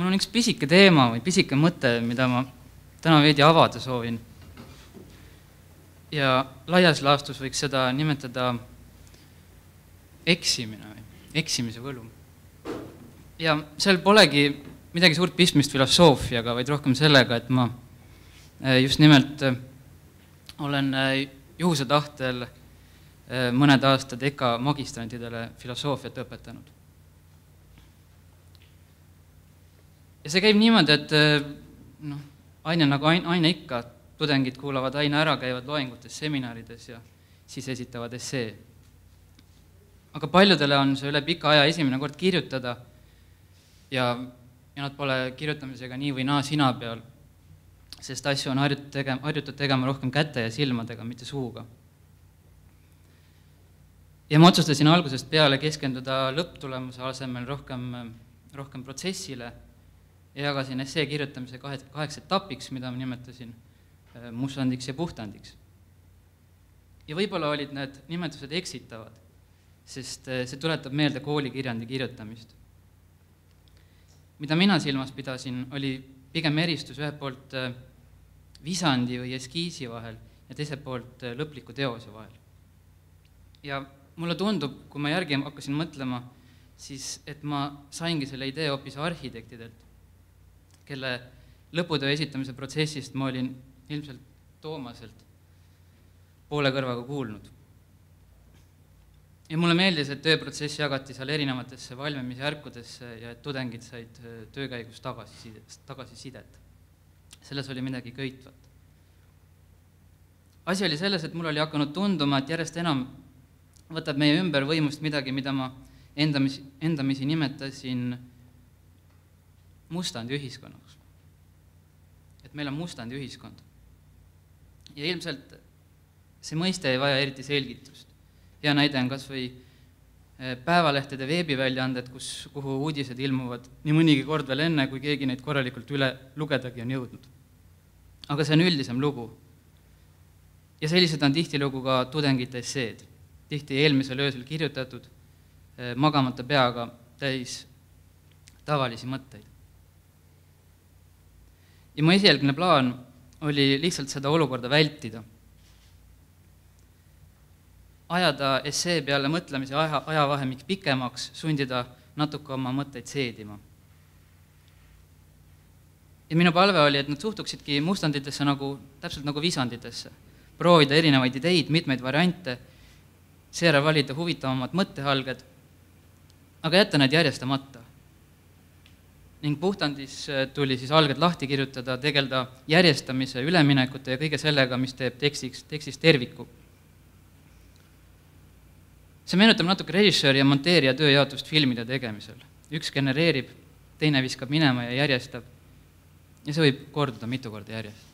mul on üks pisike teema või pisike mõte, mida ma täna veidi avada soovin. Ja laias laastus võiks seda nimetada eksimine või eksimise võlu. Ja seal polegi midagi suurt pistmist filosoofiaga, vaid rohkem sellega, et ma just nimelt olen juhuse tahtel mõned aastad EKA magistrantidele filosoofiat õpetanud. Ja see käib niimoodi, et aine nagu aine ikka, tudengid kuulavad aine ära, käivad loengutes, seminarides ja siis esitavad essee. Aga paljudele on see üle pika aja esimene kord kirjutada ja nad pole kirjutamisega nii või naa sina peal, sest asju on harjutud tegema rohkem käte ja silmadega, mitte suuga. Ja ma otsustasin algusest peale keskenduda lõpptulemuse asemel rohkem protsessile ja jagasin essee kirjutamise 8 etapiks, mida ma nimetasin mustandiks ja puhtandiks. Ja võib-olla olid need nimetused eksitavad, sest see tuletab meelde koolikirjandi kirjutamist. Mida mina silmas pidasin, oli pigem eristus ühelt poolt visandi või eskiisi vahel ja teiselt poolt lõpliku teose vahel. Ja mulle tundub, kui ma järgi hakkasin mõtlema, siis et ma saingi selle idee hoopis arhitektidelt, kelle lõputöö esitamise protsessist ma olin ilmselt Toomaselt poole kõrvaga kuulnud. Ja mulle meeldis, et tööprotsess jagati seal erinevatesse valmimisjärkudesse ja et tudengid said töökäigus tagasisidet. Selles oli midagi köitvat. Asi oli selles, et mul oli hakanud tunduma, et järjest enam võtab meie ümber võimust midagi, mida ma endamisi nimetasin mustandi ühiskonnaks. Et meil on mustandi ühiskond. Ja ilmselt see mõiste ei vaja eriti selgitust. Hea näide on kas või päevalehtede veebiväljaanded, kuhu uudised ilmuvad nii mõnigi kord veel enne, kui keegi neid korralikult üle lugedagi on jõudnud. Aga see on üldisem lugu. Ja sellised on tihtilugu ka tudengite esseed. Tihti eelmisel öösel kirjutatud, magamata peaga täis tavalisi mõtteid. Ja mu esialgne plaan oli lihtsalt seda olukorda vältida. Ajada essee peale mõtlemise ajavahemik pikemaks, sundida natuke oma mõtteid seedima. Ja minu palve oli, et nad suhtuksidki mustanditesse täpselt nagu visanditesse. Proovida erinevaid ideid, mitmeid variante, seejärel valida huvitavamad mõttehalged, aga jätta need järjestamata. Ning puhtandis tuli siis alged lahti kirjutada, tegelda järjestamise, üleminekute ja kõige sellega, mis teeb tekstist terviku. See meenutab natuke režissööri ja monteerija tööjaotust filmide tegemisel. Üks genereerib, teine viskab minema ja järjestab ja see võib korduda mitu korda järjest.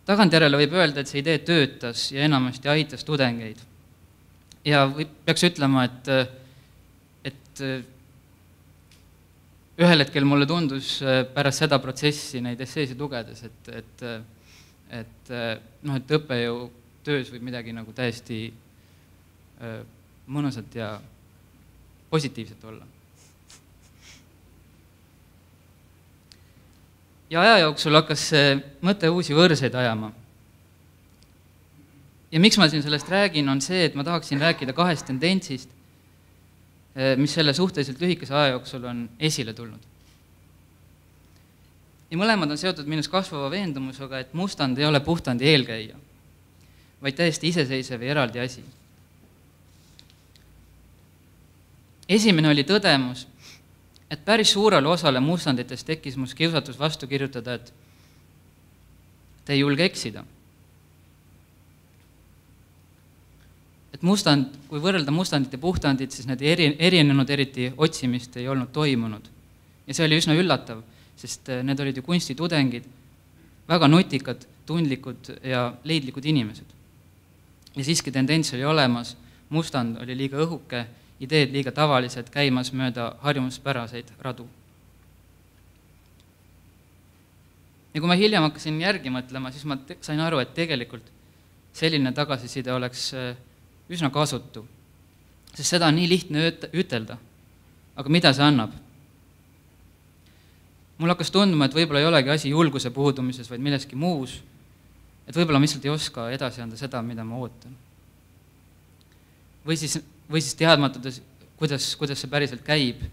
Tagantjärele võib öelda, et see idee töötas ja enamasti aitas tudengeid. Ja peaks ütlema, et ühel hetkel mulle tundus pärast seda protsessi neid esseesid lugedes, et õppejõu töös võib midagi nagu täiesti mõnusat ja positiivset olla. Ja aja jooksul hakkas see mõte uusi võrseid ajama. Ja miks ma siin sellest räägin, on see, et ma tahaksin rääkida 2 tendentsist, mis selle suhteliselt lühikese aja jooksul on esile tulnud. Ja mõlemad on seotud minus kasvava veendumusega, et mustand ei ole puhtandi eelkäija, vaid täiesti iseseisev ja eraldi asi. Esimene oli tõdemus, et päris suurele osale mustanditest tekkis mus kiusatus vastu kirjutada, et te ei julge eksida. Et mustand, kui võrrelda mustandit ja puhtandit, siis need erinenud eriti otsimist ei olnud toimunud. Ja see oli üsna üllatav, sest need olid ju kunstitudengid, väga nutikad, tundlikud ja leidlikud inimesed. Ja siiski tendents oli olemas, mustand oli liiga õhuke, ideed liiga tavalised, käimas mööda harjumuspäraseid radu. Ja kui ma hiljem hakkasin järgi mõtlema, siis ma sain aru, et tegelikult selline tagasiside oleks üsna kasutu, sest seda on nii lihtne ütelda, Aga mida see annab? Mul hakkas tunduma, et võib-olla ei olegi asi julguse puudumises, vaid milleski muus, et võib-olla ma lihtsalt ei oska edasi anda seda, mida ma ootan. Või siis teadmatades, kuidas see päriselt käib,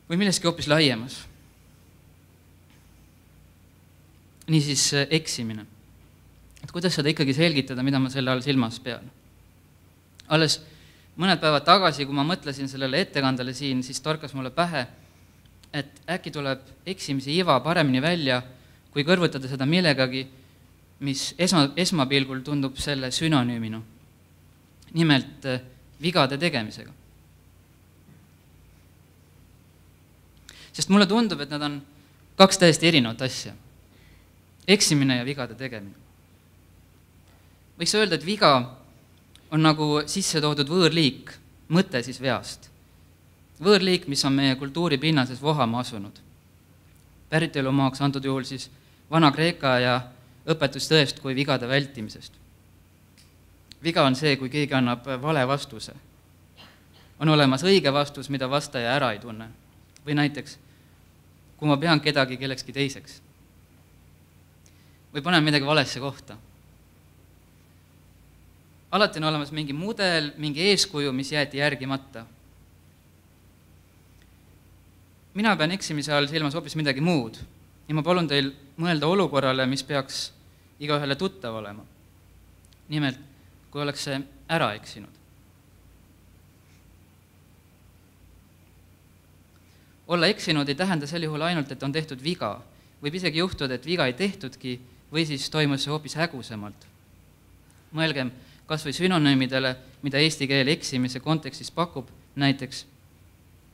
või milleski hoopis laiemas. Niisiis eksimine. Et kuidas seda ikkagi selgitada, mida ma selle all silmas pean? Alles mõned päevad tagasi, kui ma mõtlesin sellele ettekandele siin, siis torkas mulle pähe, et äkki tuleb eksimise iva paremini välja, kui kõrvutada seda millegagi, mis esmapilgul tundub selle sünonüümina. Nimelt vigade tegemisega. Sest mulle tundub, et nad on kaks täiesti erinevat asja. Eksimine ja vigade tegemine. Võiks öelda, et viga on nagu sisse toodud võõrliik, mõte siis veast. Võõrliik, mis on meie kultuuri pinnases vohama asunud. Päritolumaaks antud juhul siis Vana-Kreeka ja õpetus tõest kui vigade vältimisest. Viga on see, kui keegi annab vale vastuse. On olemas õige vastus, mida vastaja ära ei tunne. Või näiteks, kui ma pean kedagi kellekski teiseks. Või panen midagi valesse kohta. Alati on olemas mingi mudel, mingi eeskuju, mis jäeti järgimata. Mina pean eksimise all silmas hoopis midagi muud ja ma palun teil mõelda olukorrale, mis peaks igaühele tuttav olema. Nimelt, kui oleks see ära eksinud. Olla eksinud ei tähenda sel juhul ainult, et on tehtud viga. Võib isegi juhtuda, et viga ei tehtudki või siis toimus see hoopis hägusemalt. Mõelgem kas või sünonüümidele, mida eesti keel eksimise kontekstis pakub, näiteks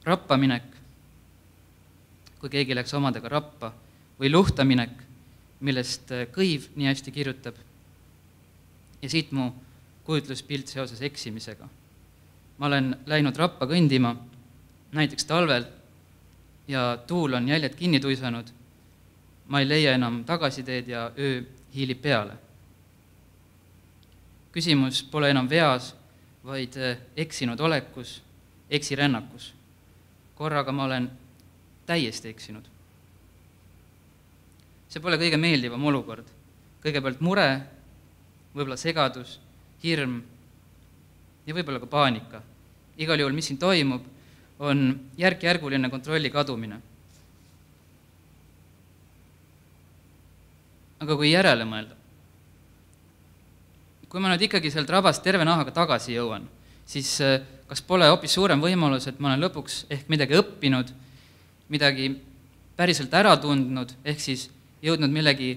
rappaminek, kui keegi läks omadega rappa, või luhtaminek, millest Kõiv nii hästi kirjutab. Ja siit mu kujutluspilt seoses eksimisega. Ma olen läinud rappa kõndima, näiteks talvel, ja tuul on jäljed kinni tuisanud. Ma ei leia enam tagasiteed ja öö hiilib peale. Küsimus pole enam veas, vaid eksinud olekus, eksirännakus. Korraga ma olen täiesti eksinud. See pole kõige meeldivam olukord. Kõigepealt mure, võib-olla segadus, hirm ja võib-olla ka paanika. Igal juhul, mis siin toimub, on järk-järguline kontrolli kadumine. Aga kui järele mõelda, kui ma nüüd ikkagi sealt rabast terve nahaga tagasi jõuan, siis kas pole hoopis suurem võimalus, et ma olen lõpuks ehk midagi õppinud, midagi päriselt ära tundnud, ehk siis jõudnud millegi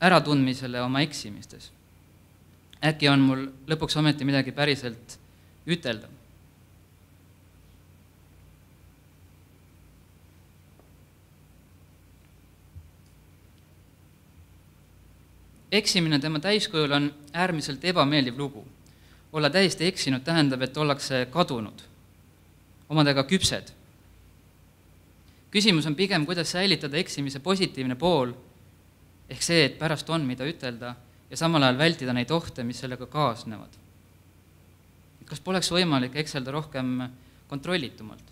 äratundmisele oma eksimistes. Äkki on mul lõpuks ometi midagi päriselt ütelda. Eksimine tema täiskujul on äärmiselt ebameeldiv lugu. Olla täiesti eksinud tähendab, et ollakse kadunud, omadega küpsed. Küsimus on pigem, kuidas säilitada eksimise positiivne pool, ehk see, et pärast on, mida ütelda, ja samal ajal vältida neid ohte, mis sellega kaasnevad. Kas poleks võimalik ekselda rohkem kontrollitumalt?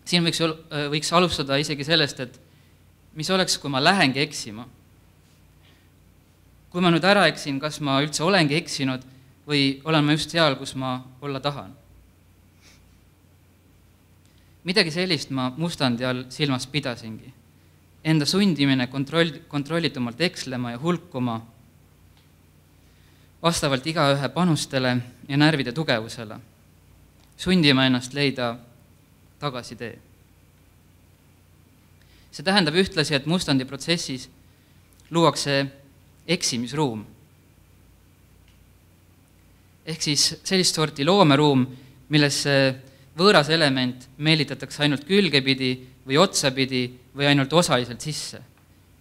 Siin võiks alustada isegi sellest, et mis oleks, kui ma lähengi eksima? Kui ma nüüd ära eksin, kas ma üldse olengi eksinud või olen ma just seal, kus ma olla tahan? Midagi sellist ma mustandi all silmas pidasingi. Enda sundimine kontrollitumalt ekslema ja hulkuma vastavalt igaühe panustele ja närvide tugevusele. Sundima ennast leida tagasitee. See tähendab ühtlasi, et mustandi protsessis luuakse eksimisruum. Ehk siis sellist sorti loomeruum, millesse võõras element meelitatakse ainult külgepidi või otsapidi või ainult osaliselt sisse.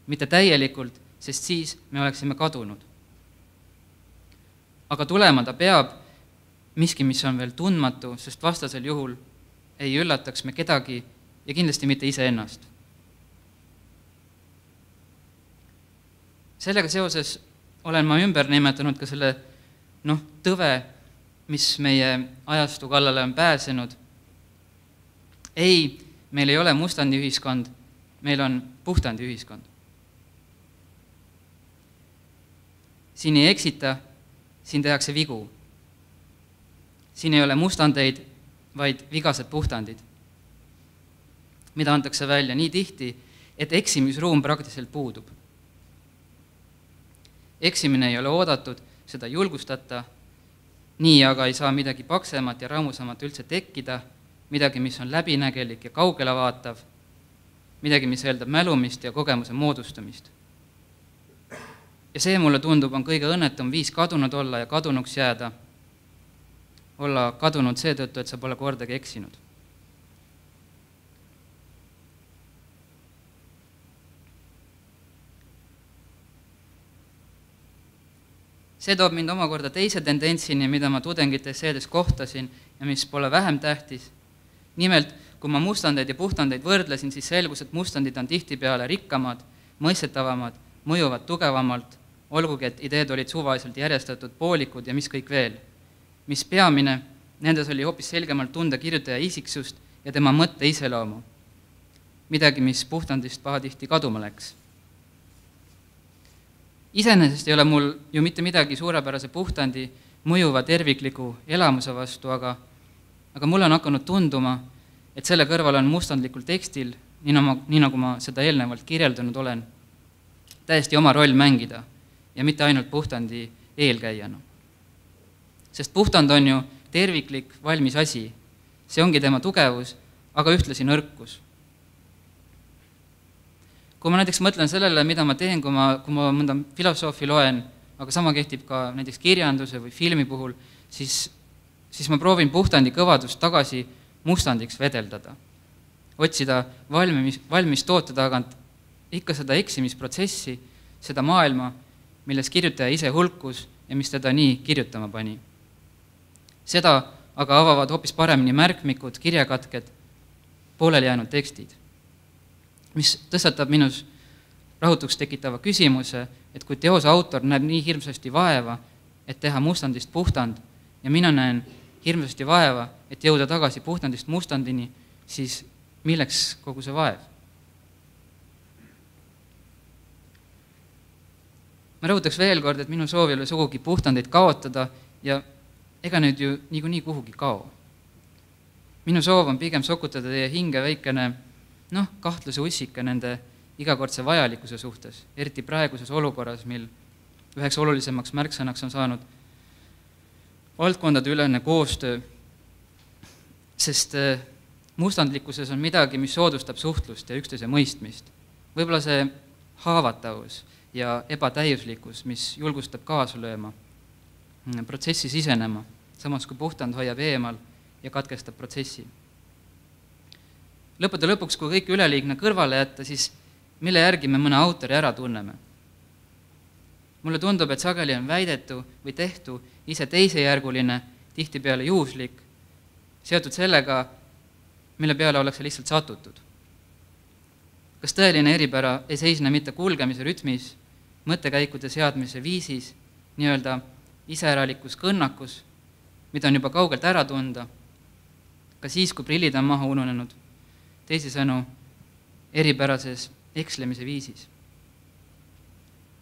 Mitte täielikult, sest siis me oleksime kadunud. Aga tulema ta peab miski, mis on veel tundmatu, sest vastasel juhul ei üllataks me kedagi ja kindlasti mitte iseennast. Sellega seoses olen ma ümber nimetanud ka selle tõve mis meie ajastu kallale on pääsenud. Ei, meil ei ole mustandi ühiskond, meil on puhtandi ühiskond. Siin ei eksita, siin tehakse vigu. Siin ei ole mustandeid, vaid vigased puhtandid, mida antakse välja nii tihti, et eksimisruum praktiliselt puudub. Eksimine ei ole oodatud, seda julgustata, nii aga ei saa midagi paksemat ja rammusamat üldse tekkida, midagi, mis on läbinägelik ja kaugele vaatav, midagi, mis eeldab mälumist ja kogemuse moodustamist. Ja see mulle tundub on kõige õnnetum viis kadunud olla ja kadunuks jääda, olla kadunud seetõttu, et sa pole kordagi eksinud. See toob mind omakorda teise tendentsini, mida ma tudengite esseedes kohtasin ja mis pole vähem tähtis. Nimelt, kui ma mustandeid ja puhtandeid võrdlesin, siis selgus, et mustandid on tihtipeale rikkamad, mõistetavamad, mõjuvad tugevamalt, olgugi, et ideed olid suvaliselt järjestatud poolikud ja mis kõik veel. Mis peamine, nendes oli hoopis selgemalt tunda kirjutaja isiksust ja tema mõtte iseloomu. Midagi, mis puhtandist pahatihti kaduma läks. Iseenesest ei ole mul ju mitte midagi suurepärase puhtandi mõjuva tervikliku elamuse vastu, aga mulle on hakanud tunduma, et selle kõrval on mustandlikul tekstil, nii nagu ma seda eelnevalt kirjeldanud olen, täiesti oma roll mängida ja mitte ainult puhtandi eelkäijana. Sest puhtant on ju terviklik, valmis asi. See ongi tema tugevus, aga ühtlasi nõrkus. Kui ma näiteks mõtlen sellele, mida ma teen, kui ma mõnda filosoofi loen, aga sama kehtib ka näiteks kirjanduse või filmi puhul, siis ma proovin puhtandi kõvadust tagasi mustandiks vedeldada. Otsida valmis toote tagant ikka seda eksimisprotsessi, seda maailma, milles kirjutaja ise hulkus ja mis teda nii kirjutama pani. Seda aga avavad hoopis paremini märkmikud, kirjakatked, pooleli jäänud tekstid, mis tõstatab minus rahutuks tekitava küsimuse, et kui teose autor näeb nii hirmsasti vaeva, et teha mustandist puhtant, ja mina näen hirmsasti vaeva, et jõuda tagasi puhtandist mustandini, siis milleks kogu see vaev? Ma rõhutaks veel kord, et minu soov ei ole sugugi puhtandeid kaotada ja ega nüüd ju niikuinii kuhugi kao. Minu soov on pigem sokutada teie hinge väikene kahtluse ussika nende igakordse vajalikkuse suhtes, eriti praeguses olukorras, mil üheks olulisemaks märksõnaks on saanud valdkondade ülene koostöö, sest mustandlikkuses on midagi, mis soodustab suhtlust ja üksteise mõistmist. Võib-olla see haavatavus ja ebatäiuslikkus, mis julgustab kaasa lööma, protsessi sisenema, samas kui puhtant hoiab eemal ja katkestab protsessi. Lõppude lõpuks, kui kõik üleliigne kõrvale jätta, siis mille järgi me mõne autori ära tunneme. Mulle tundub, et sageli on väidetu või tehtu ise teisejärguline, tihtipeale juhuslik, seotud sellega, mille peale ollakse lihtsalt satutud. Kas tõeline eripära ei seisne mitte kulgemise rütmis, mõttekäikude seadmise viisis, nii-öelda iseäralikus kõnnakus, mida on juba kaugelt ära tunda, ka siis, kui prillid on maha ununenud, teisisõnu eripärases ekslemise viisis,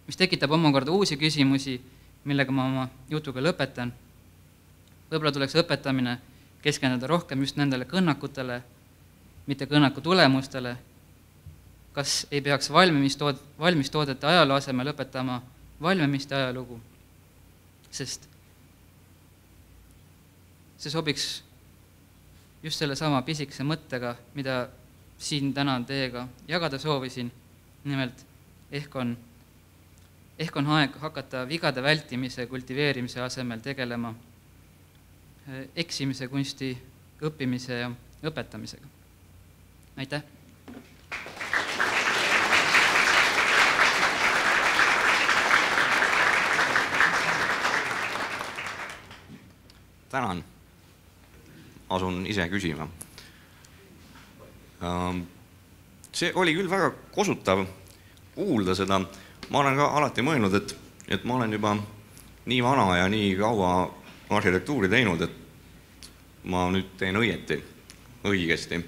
mis tekitab omakorda uusi küsimusi, millega ma oma jutuga lõpetan. Võib-olla tuleks õpetamine keskenduda rohkem just nendele kõnnakutele, mitte kõnnaku tulemustele. Kas ei peaks valmistoodete ajaloo asemel õpetama valmimiste ajalugu? Sest see sobiks just selle sama pisikese mõttega, mida siin täna teiega jagada soovisin. Nimelt, ehk on aeg hakata vigade vältimise, kultiveerimise asemel tegelema eksimise kunsti õppimise ja õpetamisega. Aitäh! Tänan! Asun ise küsima. See oli küll väga kosutav kuulda seda. Ma olen ka alati mõelnud, et ma olen juba nii vana ja nii kaua arhitektuuri teinud, et ma nüüd teen õigesti.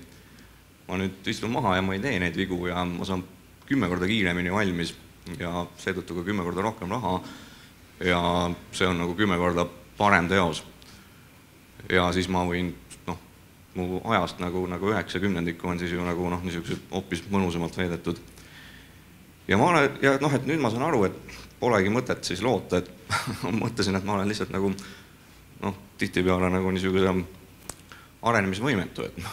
Ma nüüd istun maha ja ma ei tee neid vigu ja ma saan 10 korda kiiremini valmis ja seetõttu ka 10 korda rohkem raha ja see on nagu 10 korda parem teos. Ja siis ma võin, mu ajast nagu 90% on siis ju nagu niisugused hoopis mõnusamalt veedetud. Ja et nüüd ma saan aru, et polegi mõtet siis loota, et mõtlesin, et ma olen lihtsalt nagu tihtipeale nagu niisuguse arenemisvõimetu, et ma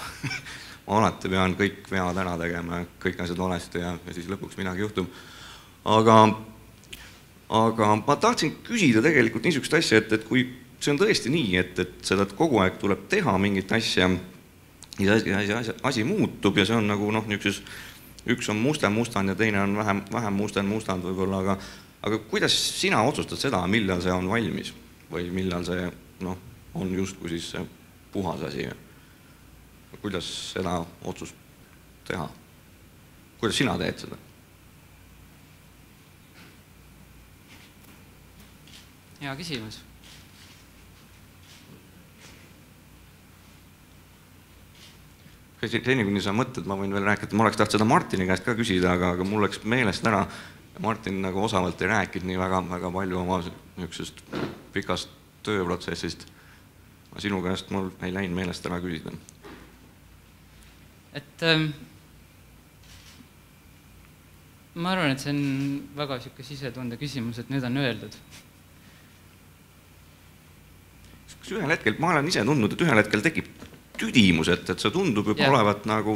alati pean kõik vead ära tegema, kõik asjad valesti ja siis lõpuks midagi juhtub. Aga ma tahtsin küsida tegelikult niisugust asja, et kui see on tõesti nii, et seda kogu aeg tuleb teha mingit asja ja asi muutub ja see on nagu niisuguses, üks on mustand ja teine on vähem mustand võib-olla, aga kuidas sina otsustad seda, millal see on valmis või millal see on justkui siis see puhas asi? Kuidas seda otsust teha? Kuidas sina teed seda? Hea küsimus. Seni, kuni sa mõtled, ma võin veel rääkida, ma oleks tahtnud seda Martini käest ka küsida, aga mul läks meelest ära. Martin nagu osavalt ei rääkid nii väga palju oma niisugusest pikast tööprotsessist. Sinu käest mul ei läinud meelest ära küsida. Et ma arvan, et see on väga siuke sisetunde küsimus, et nüüd on öeldud. Ühel hetkel, ma olen ise tundnud, et ühel hetkel tekib tüdimus, et see tundub juba olevat nagu,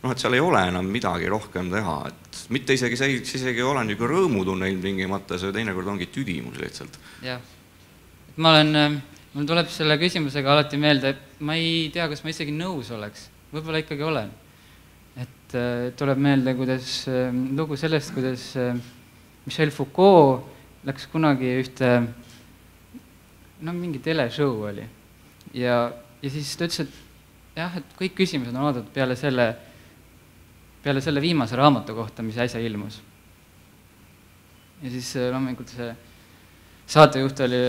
et seal ei ole enam midagi rohkem teha, et mitte isegi olen nagu rõõmutunne ilmtingimata, see teinekord ongi tüdimus lihtsalt. Jah, mul tuleb selle küsimusega alati meelde, et ma ei tea, kas ma isegi nõus oleks, võib-olla ikkagi olen. Et tuleb meelde, kuidas lugu sellest, kuidas Michel Foucault läks kunagi ühte, mingi teleshow oli ja siis ta ütles, et kõik küsimused on oodatud peale selle viimase raamatu kohta, mis äsja ilmus. Ja siis loomulikult see saatejuht oli,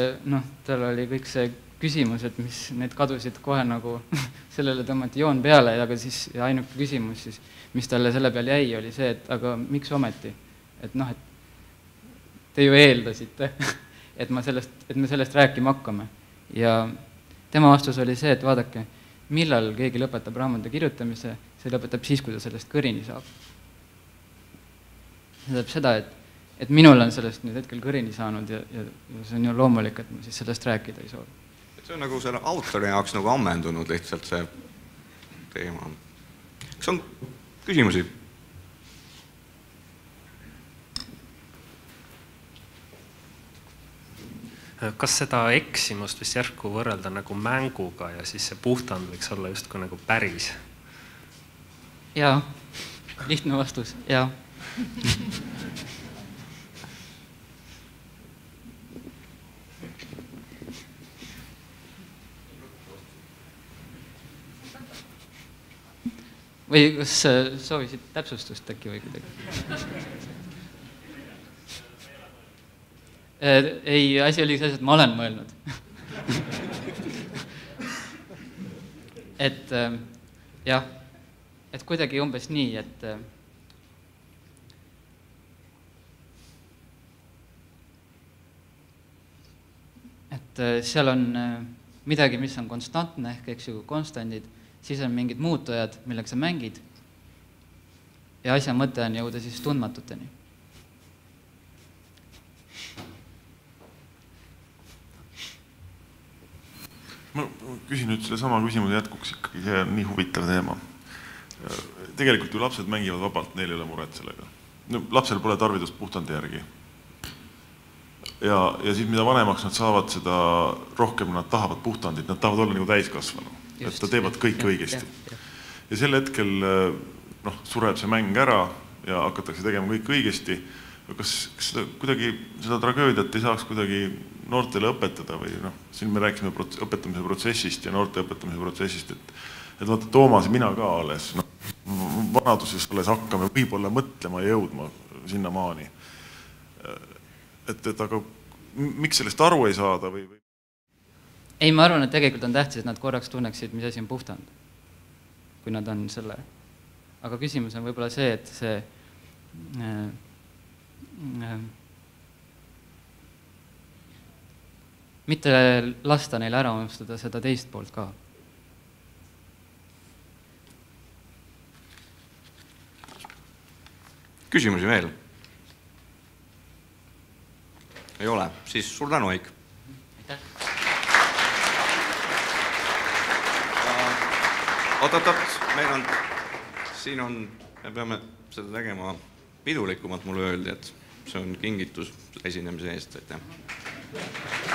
tal oli kõik see küsimused, mis need kadusid kohe nagu sellele tõmmati joon peale, aga siis ainuke küsimus, siis, mis talle selle peal jäi, oli see, et aga miks ometi? Et te ju eeldasite, et me sellest rääkima hakkame. Ja tema vastus oli see, et vaadake, millal keegi lõpetab raamatu kirjutamise, see lõpetab siis, kui ta sellest kõrini saab. See tähendab seda, et minul on sellest nüüd hetkel kõrini saanud ja see on ju loomulik, et ma siis sellest rääkida ei soovi. See on nagu selle autori jaoks nagu ammendunud lihtsalt see teema. Kas on küsimusi? Kas seda eksimust vist järsku võrrelda nagu mänguga ja siis see puhtant võiks olla justkui nagu päris? Jaa, lihtne vastus, jaa. Või kas soovisid täpsustust äkki või kuidagi? Ei, asi oli see, et ma olen mõelnud. Et jah, et kuidagi umbes nii, et seal on midagi, mis on konstantne, ehk konstandid, siis on mingid muutujad, millega sa mängid ja asja mõte on jõuda siis tundmatuteni. Ma küsin nüüd selle sama küsimuse jätkuks ikkagi, see on nii huvitav teema. Tegelikult ju lapsed mängivad vabalt, neil ei ole muret sellega. Lapsel pole tarvidust puhtandi järgi. Ja siis mida vanemaks nad saavad, seda rohkem nad tahavad puhtandit, nad tahavad olla nagu täiskasvanu. Et ta teevad kõik õigesti. Ja sel hetkel sureb see mäng ära ja hakatakse tegema kõik õigesti. Kas kuidagi seda tragöödiat ei saaks kuidagi noortele õpetada või siin me rääkisime õpetamise protsessist ja noorte õpetamise protsessist, et vaata Toomas ja mina ka alles, vanaduses alles hakkame võib-olla mõtlema ja jõudma sinna maani. Et aga miks sellest aru ei saada või? ei, ma arvan, et tegelikult on tähtis, et nad korraks tunneksid, mis asi on puhstand, kui nad on selle. Aga küsimus on võib-olla see, et see mitte lasta neil ära unustada seda teist poolt ka. Küsimusi veel? Ei ole, siis suur tänu, Eik. Aitäh. Oot, me peame seda tegema pidulikumalt, mulle öeldi, et see on kingitus esinemise eest. Aitäh.